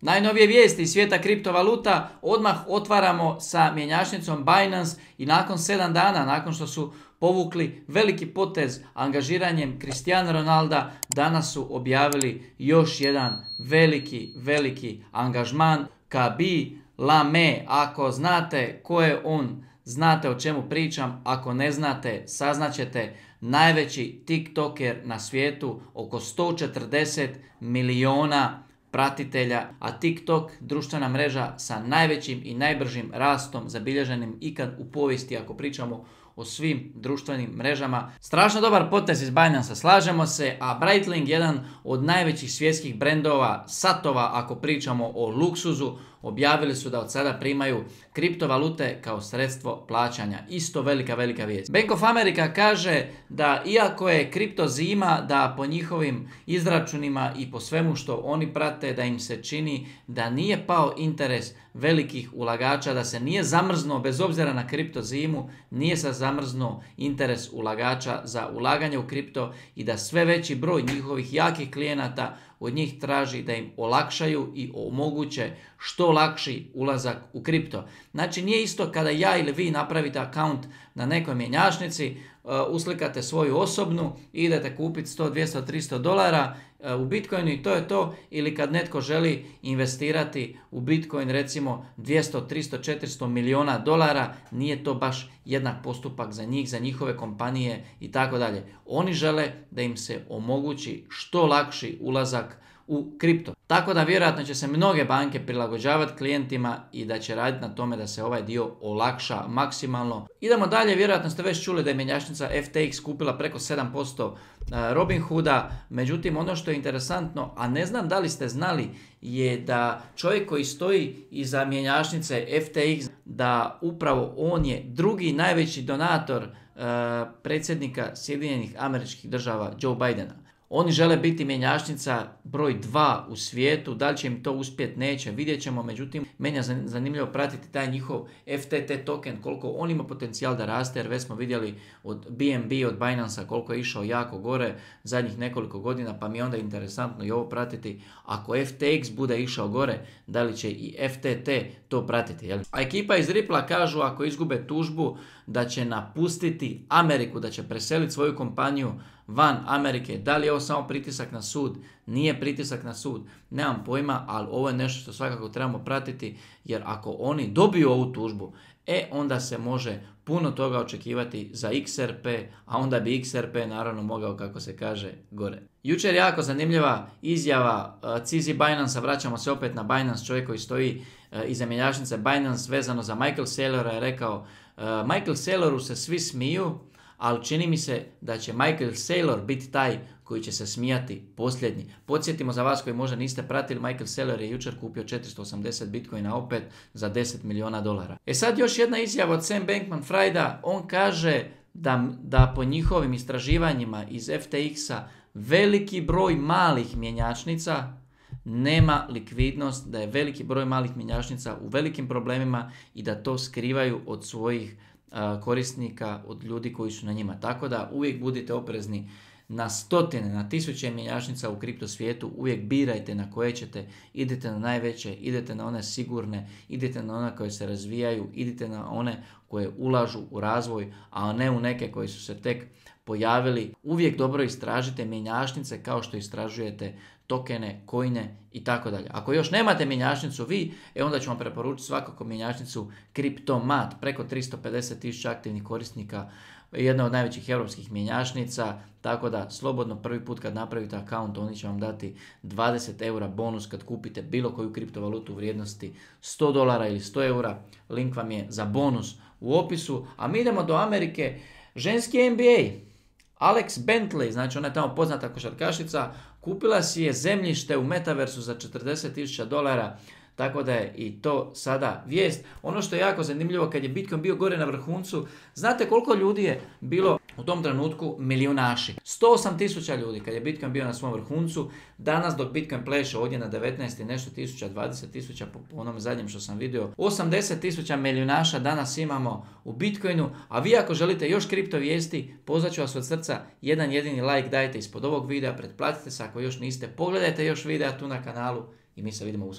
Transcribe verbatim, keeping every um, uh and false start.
Najnovije vijesti iz svijeta kriptovaluta odmah otvaramo sa mjenjačnicom Binance i nakon sedam dana, nakon što su povukli veliki potez angažiranjem Cristiano Ronalda, danas su objavili još jedan veliki, veliki angažman. Khaby Lame, ako znate ko je on, znate o čemu pričam, ako ne znate, saznaćete. Najveći tiktoker na svijetu, oko sto četrdeset milijuna pratitelja, a TikTok, društvena mreža sa najvećim i najbržim rastom zabilježenim ikad u povijesti, ako pričamo o svim društvenim mrežama. Strašno dobar potez iz Binance, slažemo se, a Breitling, jedan od najvećih svjetskih brendova, satova, ako pričamo o luksuzu, objavili su da od sada primaju kriptovalute kao sredstvo plaćanja. Isto velika, velika vijest. Bank of America kaže da iako je kripto zima, da po njihovim izračunima i po svemu što oni prate, da im se čini da nije pao interes velikih ulagača, da se nije zamrznuo, bez obzira na kripto zimu, nije se zamrznuo interes ulagača za ulaganje u kripto i da sve veći broj njihovih jakih klijenata od njih traži da im olakšaju i omoguće što lakši ulazak u kripto. Znači nije isto kada ja ili vi napravite akaunt na nekoj mjenjačnici, uslikate svoju osobnu i idete kupiti sto, dvjesto, tristo dolara u Bitcoinu i to je to, ili kad netko želi investirati u Bitcoin recimo dvjesto, tristo, četiristo milijuna dolara, nije to baš jednak postupak za njih, za njihove kompanije i tako dalje. Oni žele da im se omogući što lakši ulazak u kripto. Tako da vjerojatno će se mnoge banke prilagođavati klijentima i da će raditi na tome da se ovaj dio olakša maksimalno. Idemo dalje, vjerojatno ste već čuli da je mjenjačnica F T X kupila preko sedam posto Robinhooda, međutim ono što je interesantno, a ne znam da li ste znali, je da čovjek koji stoji iza mjenjačnice F T X, da upravo on je drugi najveći donator uh, predsjednika Sjedinjenih Američkih Država Joe Bidena. Oni žele biti mjenjačnica broj dva u svijetu, da li će im to uspjeti, neće, vidjet ćemo, međutim, meni je zanimljivo pratiti taj njihov F T T token, koliko on ima potencijal da raste, jer već smo vidjeli od B N B, od Binance-a, koliko je išao jako gore zadnjih nekoliko godina, pa mi je onda interesantno i ovo pratiti. Ako F T X bude išao gore, da li će i F T T to pratiti, jel? A ekipa iz Ripple kažu, ako izgube tužbu, da će napustiti Ameriku, da će preseliti svoju kompaniju van Amerike. Da li je ovo samo pritisak na sud? Nije pritisak na sud, nemam pojma, ali ovo je nešto što svakako trebamo pratiti, jer ako oni dobiju ovu tužbu, e onda se može puno toga očekivati za X R P, a onda bi X R P naravno mogao, kako se kaže, gore. Jučer jako zanimljiva izjava uh, Cizi Binance, vraćamo se opet na Binance, čovjek koji stoji uh, iza mjenjačnice Binance vezano za Michael Saylora je rekao, uh, Michael Sayloru se svi smiju, ali čini mi se da će Michael Saylor biti taj koji će se smijati posljednji. Podsjetimo za vas koji možda niste pratili, Michael Saylor je jučer kupio četiristo osamdeset bitcoina opet za deset milijuna dolara. E sad još jedna izjava od Sam Bankman-Frieda, on kaže da, da po njihovim istraživanjima iz F T X-a veliki broj malih mjenjačnica nema likvidnost, da je veliki broj malih mjenjačnica u velikim problemima i da to skrivaju od svojih korisnika, od ljudi koji su na njima. Tako da uvijek budite oprezni na stotine, na tisuće mjenjačnica u kripto svijetu, uvijek birajte na koje ćete, idete na najveće, idete na one sigurne, idete na one koje se razvijaju, idete na one koje ulažu u razvoj, a ne u neke koji su se tek pojavili. Uvijek dobro istražite mjenjačnice kao što istražujete tokene, coine i tako dalje. Ako još nemate mjenjačnicu vi, e onda ću vam preporučiti svakako mjenjačnicu Cryptomat, preko tristo pedeset tisuća aktivnih korisnika, jedna od najvećih europskih mjenjačnica, tako da slobodno prvi put kad napravite akaunt, oni će vam dati dvadeset eura bonus kad kupite bilo koju kriptovalutu u vrijednosti sto dolara ili sto eura. Link vam je za bonus u opisu. A mi idemo do Amerike. Ženski N B A. Alex Bentley, znači ona je tamo poznata košarkašica, kupila si je zemljište u metaversu za četrdeset tisuća dolara, tako da je i to sada vijest. Ono što je jako zanimljivo, kad je Bitcoin bio gore na vrhuncu, znate koliko ljudi je bilo u tom trenutku milijunaši? sto osam tisuća ljudi kad je Bitcoin bio na svom vrhuncu. Danas dok Bitcoin pleše ovdje na devetnaest i nešto tisuća, dvadeset tisuća po onom zadnjem što sam vidio, osamdeset tisuća milijunaša danas imamo u Bitcoinu. A vi ako želite još kripto vijesti, pozvat ću vas od srca, jedan jedini like dajte ispod ovog videa, pretplatite se ako još niste, pogledajte još videa tu na kanalu i mi se vidimo uskoro.